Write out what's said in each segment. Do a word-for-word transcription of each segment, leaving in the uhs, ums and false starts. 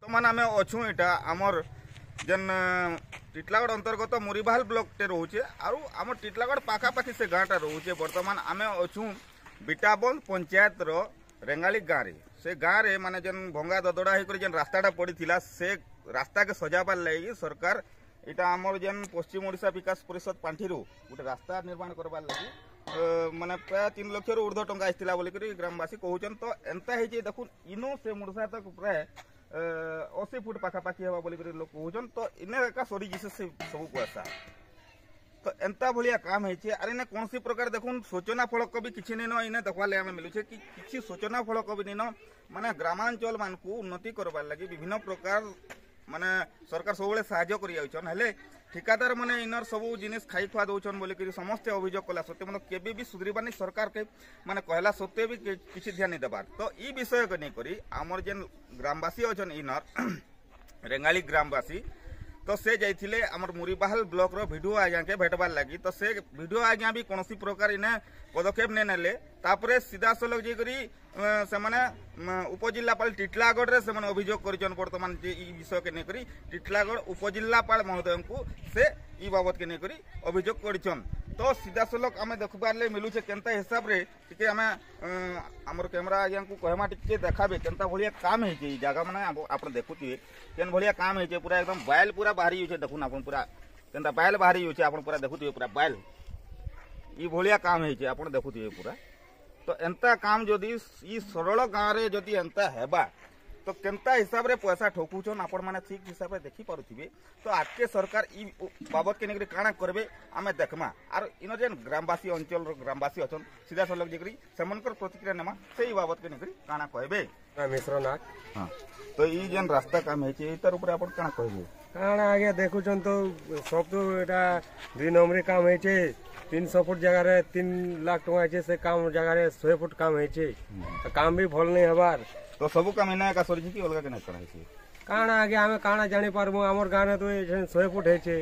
ବର୍ତ୍ତମାନ ଆମେ ଅଛୁଁ ଏଇଟା ଆମର୍ ଯେନ୍ ଟିଟଲାଗଡ଼ ଅନ୍ତର୍ଗତ ମୁରିବାହାଲ ବ୍ଲକଟେ ରହୁଛେ ଆରୁ ଆମର ଟିଟଲାଗଡ଼ ପାଖାପାଖି ସେ ଗାଁଟା ରହୁଛେ। ବର୍ତ୍ତମାନ ଆମେ ଅଛୁଁ ବିଟାବନ୍ଦ ପଞ୍ଚାୟତର ରେଙ୍ଗାଲି ଗାଁରେ। ସେ ଗାଁରେ ମାନେ ଯେନ୍ ଭଙ୍ଗା ଦଦଡ଼ା ହେଇକରି ଯେନ୍ ରାସ୍ତାଟା ପଡ଼ିଥିଲା, ସେ ରାସ୍ତାକେ ସଜାବାର ଲାଗି ସରକାର ଏଇଟା ଆମର ଯେନ୍ ପଶ୍ଚିମ ଓଡ଼ିଶା ବିକାଶ ପରିଷଦ ପାଣ୍ଠିରୁ ଗୋଟେ ରାସ୍ତା ନିର୍ମାଣ କରବାର ଲାଗି ମାନେ ପ୍ରାୟ ତିନି ଲକ୍ଷରୁ ଉର୍ଦ୍ଧ୍ୱ ଟଙ୍କା ଆସିଥିଲା ବୋଲିକରି ଗ୍ରାମବାସୀ କହୁଛନ୍। ତ ଏନ୍ତା ହେଇଛି, ଦେଖୁନ୍, ଇନୁ ସେ ମୁଡ଼ସା ତକ ପ୍ରାୟ ଅଶୀ ଫୁଟ ପାଖାପାଖି ହେବା ବୋଲିକରି ଲୋକ କହୁଛନ୍। ତ ଇନେ ଏକା ସରିଯିছে ସେ ସବୁ ପଇସା। ତ ଏନ୍ତା ଭଳିଆ କାମ ହେଇছে। ଆର୍ ଇନେ କୌଣସି ପ୍ରକାର, ଦେଖୁନ୍, ସୂଚନା ଫଳକ ବି କିଛି ନେଇନ। ଇନେ ଦେଖବାର୍ ଲାଗି ଆମେ ମିଲୁଛେ କି କିଛି ସୂଚନା ଫଳକ ବି ନେଇନ। ମାନେ ଗ୍ରାମାଞ୍ଚଳ ମାନଙ୍କୁ ଉନ୍ନତି କରବାର୍ ଲାଗି ବିଭିନ୍ନ ପ୍ରକାର ମାନେ ସରକାର ସବୁବେଳେ ସାହାଯ୍ୟ କରି ଯାଉଛନ୍, ହେଲେ ଠିକାଦାର ମାନେ ଇନର ସବୁ ଜିନିଷ ଖାଇ ଖୁଆ ଦଉଛନ୍ ବୋଲିକରି ସମସ୍ତେ ଅଭିଯୋଗ କଲା ସତ୍ତ୍ୱେ ମାନେ କେବେ ବି ସୁଧରିବାନି। ସରକାରକେ ମାନେ କହିଲା ସତ୍ତ୍ୱେ ବି କିଛି ଧ୍ୟାନ ନାଇଁ ଦେବାର। ତ ଇ ବିଷୟକେ ନେଇକରି ଆମର ଯେନ୍ ଗ୍ରାମବାସୀ ଅଛନ୍, ଇନର ରେଙ୍ଗାଲି ଗ୍ରାମବାସୀ, ତ ସେ ଯାଇଥିଲେ ଆମର ମୁରିବାହାଲ ବ୍ଲକର ଭିଡ଼ିଓ ଆଜ୍ଞାକେ ଭେଟବାର ଲାଗି। ତ ସେ ଭିଡ଼ିଓ ଆଜ୍ଞା ବି କୌଣସି ପ୍ରକାର ଇନେ ପଦକ୍ଷେପ ନେଇ ନେଲେ। ତାପରେ ସିଧାସଳଖ ଯାଇକରି ସେମାନେ ଉପଜିଲ୍ଲାପାଳ ଟିଟଲାଗଡ଼ରେ ସେମାନେ ଅଭିଯୋଗ କରିଛନ୍। ବର୍ତ୍ତମାନ ଯେ ଇ ବିଷୟକେ ନେଇକରି ଟିଟଲାଗଡ଼ ଉପଜିଲ୍ଲାପାଳ ମହୋଦୟଙ୍କୁ ସେ ଇ ବାବଦକେ ନେଇକରି ଅଭିଯୋଗ କରିଛନ୍। ତ ସିଧାସଳଖ ଆମେ ଦେଖିବାର୍ ମିଲୁଛେ କେନ୍ତା ହିସାବରେ, ଟିକେ ଆମେ ଆମର କ୍ୟାମେରା ଆଜ୍ଞାକୁ କହେମା, ଟିକେ ଦେଖାବେ କେନ୍ତା ଭଳିଆ କାମ ହେଇছে ଏଇ ଜାଗା। ମାନେ ଆପଣ ଦେଖୁଥିବେ କେନ୍ ଭଳିଆ କାମ ହେଇছে। ପୁରା ଏକଦମ ବାଇଲ ପୁରା ବାହାରି ଯାଉଛେ। ଦେଖୁନ୍ ଆପଣ, ପୁରା କେନ୍ତା ବାଇଲ ବାହାରି ଯାଉଛେ। ଆପଣ ପୁରା ଦେଖୁଥିବେ, ପୁରା ବାଇଲ ଇ ଭଳିଆ କାମ ହେଇছে, ଆପଣ ଦେଖୁଥିବେ ପୁରା। ତ ଏନ୍ତା କାମ ଯଦି ଇ ସରଳ ଗାଁରେ ଯଦି ଏନ୍ତା ହେବା, ତ କେନ୍ତା ହିସାବରେ ପଇସା ଠକୁଛନ୍, ଆପଣ ମାନେ ଠିକ ହିସାବରେ ଦେଖିପାରୁଥିବେ। ତ ଆଗକେ ସରକାର ଇ ବାବଦକେ ନେଇକରି କାଣା କରିବେ, ଆମେ ଦେଖମା। ଆର୍ ଇନ ଯେନ୍ ଗ୍ରାମବାସୀ, ଅଞ୍ଚଳର ଗ୍ରାମବାସୀ ଅଛନ୍, ସିଧାସଳଖ ଯାଇକରି ସେମାନଙ୍କର ପ୍ରତିକ୍ରିୟା ନେମା, ସେଇ ବାବଦକେ ନେଇକରି କାଣା କହିବେ। ମିଶ୍ର ନାଗ। ହଁ, ତ ଇ ଯେନ୍ ରାସ୍ତା କାମ ହେଇଛି, ତାର ଉପରେ ଆପଣ କାଣା କହିବେ? କାଣା ଆଜ୍ଞା, ଦେଖୁଛନ୍ ତ, ସବୁ ତ ଏଇଟା ଦୁଇ ନମ୍ବରୀ କାମ ହେଇଛେ। ତିନିଶହ ଫୁଟ ଜାଗାରେ ତିନି ଲାଖ ଟଙ୍କା ହେଇଛେ, ସେ କାମ ଜାଗାରେ ଶହେ ଫୁଟ କାମ ହେଇଛେ। କାମ ବି ଭଲ ନାଇଁ ହେବାର। ତ ସବୁ କାମ ଏନା ଏକା ସରିଛି କି ଅଲଗା କେନେ କରା ହେଇଛି? କାଣା ଆଜ୍ଞା, ଆମେ କାଣା ଜାଣିପାରମୁ? ଆମର ଗାଁରେ ତ ଶହେ ଫୁଟ ହେଇଛେ।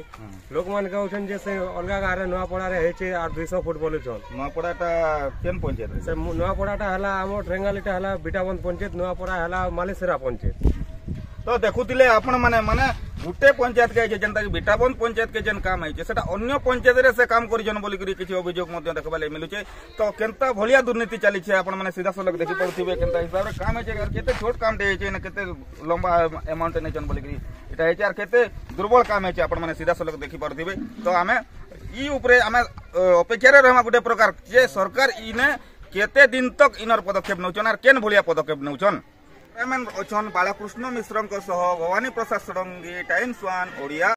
ଲୋକମାନେ କହୁଛନ୍ ଯେ ସେ ଅଲଗା ଗାଁରେ ନୂଆପଡ଼ାରେ ହେଇଛେ ଆର୍ ଦୁଇଶହ ଫୁଟ ବୋଲୁଛନ୍। ନୂଆପଡ଼ାଟା କେନ୍ ପଞ୍ଚାୟତ? ସେ ନୂଆପଡ଼ାଟା ହେଲା, ଆମର ରେଙ୍ଗାଲିଟା ହେଲା ବିଟାବନ୍ଦ ପଞ୍ଚାୟତ, ନୂଆପଡ଼ା ହେଲା ମାଲେସିରା ପଞ୍ଚାୟତ। ତ ଦେଖୁଥିଲେ ଆପଣ ମାନେ, ମାନେ ଗୁଟେ ପଞ୍ଚାୟତ କେ ହେଇଛେ, ଯେନ୍ତା କି ବିଟାବନ୍ଦ ପଞ୍ଚାୟତ କେ ଯେନ୍ କାମ ହେଇଛେ, ସେଟା ଅନ୍ୟ ପଞ୍ଚାୟତରେ ସେ କାମ କରିଛନ୍ ବୋଲିକରି କିଛି ଅଭିଯୋଗ ମଧ୍ୟ ଦେଖବାର୍ ଲାଗି ମିଲୁଛେ। ତ କେନ୍ତା ଭଳିଆ ଦୁର୍ନୀତି ଚାଲିଛେ, ଆପଣ ମାନେ ସିଧାସଳଖ ଦେଖିପାରୁଥିବେ କେନ୍ତା ହିସାବରେ କାମ ହେଇଛେ, ଆର୍ କେତେ ଛୋଟ କାମଟେ ହେଇଛେ, କେତେ ଲମ୍ବା ଆମାଉଣ୍ଟ ନେଇଛନ୍ ବୋଲିକରି ଏଟା ହେଇଛେ, ଆର୍ କେତେ ଦୁର୍ବଳ କାମ ହେଇଛେ, ଆପଣ ମାନେ ସିଧାସଳଖ ଦେଖିପାରୁଥିବେ। ତ ଆମେ ଇ ଉପରେ ଆମେ ଅପେକ୍ଷାରେ ରହିମା ଗୋଟେ ପ୍ରକାର ଯେ ସରକାର ଇନେ କେତେ ଦିନ ତକ ଇନର ପଦକ୍ଷେପ ନେଉଛନ୍ ଆର୍ କେନ୍ ଭଳିଆ ପଦକ୍ଷେପ ନେଉଛନ୍। କ୍ୟାମେରାମ୍ୟାନ୍ ଅଛନ୍ ବାଳକୃଷ୍ଣ ମିଶ୍ରଙ୍କ ସହ ଭବାନୀ ପ୍ରସାଦ ଷଡ଼ଙ୍ଗୀ, ଟାଇମ୍ସ ୱାନ୍ ଓଡ଼ିଆ।